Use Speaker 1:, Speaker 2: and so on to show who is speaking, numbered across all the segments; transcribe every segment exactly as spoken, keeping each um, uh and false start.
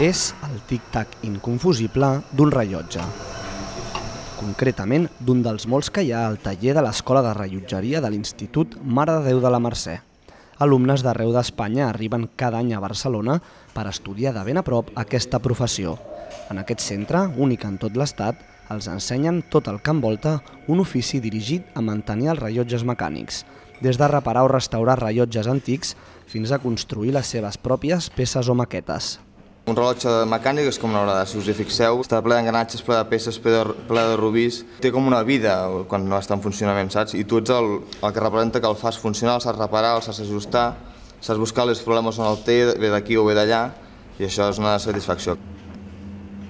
Speaker 1: És el tic-tac inconfusible d'un rellotge. Concretament, d'un dels molts que hi ha al taller de l'Escola de Rellotgeria de l'Institut Mare de Déu de la Mercè. Alumnes d'arreu d'Espanya arriben cada any a Barcelona per estudiar de ben a prop aquesta professió. En aquest centre, únic en tot l'Estat, els ensenyen tot el que envolta un ofici dirigit a mantenir els rellotges mecànics, des de reparar o restaurar rellotges antics fins a construir les seves pròpies peces o maquetes.
Speaker 2: Un rellotge mecànic és com una hora, si us hi fixeu, està ple d'engranatges, ple de peces, ple de, ple de rubís. Té com una vida quan no està en funcionament, saps? I tu ets el, el que representa que el fas funcionar, el saps reparar, el saps ajustar, saps buscar els problemes on el té, ve d'aquí o ve d'allà, i això és una satisfacció.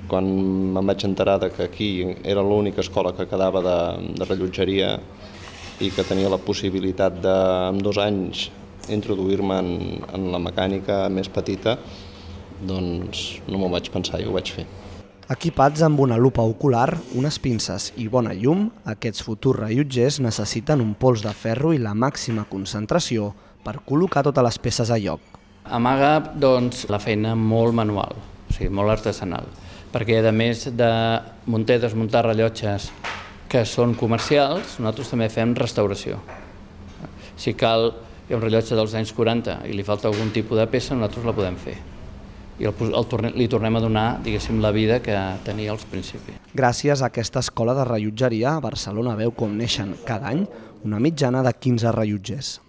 Speaker 3: Quan me'n vaig enterar que aquí era l'única escola que quedava de, de rellotgeria i que tenia la possibilitat de, en dos anys, introduir-me en, en la mecànica més petita, doncs no m'ho vaig pensar i ho vaig fer.
Speaker 1: Equipats amb una lupa ocular, unes pinces i bona llum, aquests futurs rellotgers necessiten un pols de ferro i la màxima concentració per col·locar totes les peces a lloc.
Speaker 4: Amaga doncs, la feina molt manual, o sigui, molt artesanal, perquè a més de muntar i desmuntar rellotges que són comercials, nosaltres també fem restauració. Si cal, hi ha un rellotge dels anys quaranta i li falta algun tipus de peça, nosaltres la podem fer. I el, el, li tornem a donar, diguéssim, la vida que tenia als principis.
Speaker 1: Gràcies a aquesta escola de rellotgeria, Barcelona veu com neixen cada any una mitjana de quinze rellotgers.